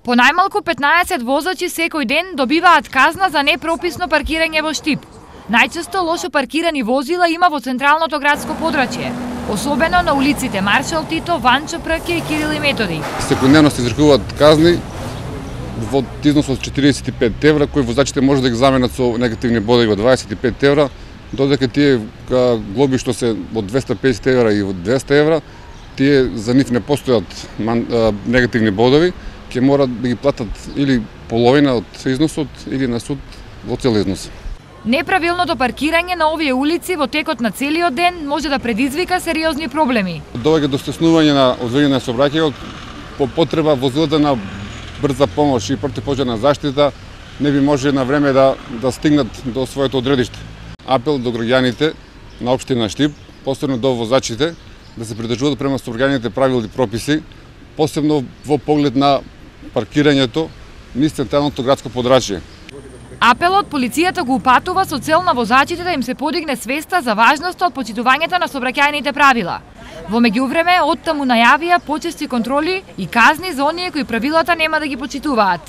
По најмалку 15 возачи секој ден добиваат казна за непрописно паркирање во Штип. Најчесто лошо паркирани возила има во централното градско подрачје, особено на улиците Маршал Тито, Ванчо Прке и Кирил и Методи. Секојдневно се изрекуваат казни во износ од 45 евра, кои возачите може да ги заменат со негативни бодови од 25 евра, додека тие глоби што се од 250 евра и од 200 евра, тие за нив не постојат негативни бодови, ќе мора да ги платат или половина од износот или на суд во цел износ. Неправилното паркирање на овие улици во текот на целиот ден може да предизвика сериозни проблеми. Доаѓа до стеснување на одвојување на сообраќајот по потреба возилата на брза помош и противпожарна заштита не би може на време да стигнат до своето одредиште. Апел до граѓаните на општина Штип, посебно до возачите, да се придржуваат према сообраќајните правила и прописи, посебно во поглед на паркирањето низ централното градско подрачје. Апелот полицијата го упатува со цел на возачите да им се подигне свеста за важноста од почитувањето на сообраќајните правила. Во меѓувреме, оттаму најавија почести контроли и казни за оние кои правилата нема да ги почитуваат.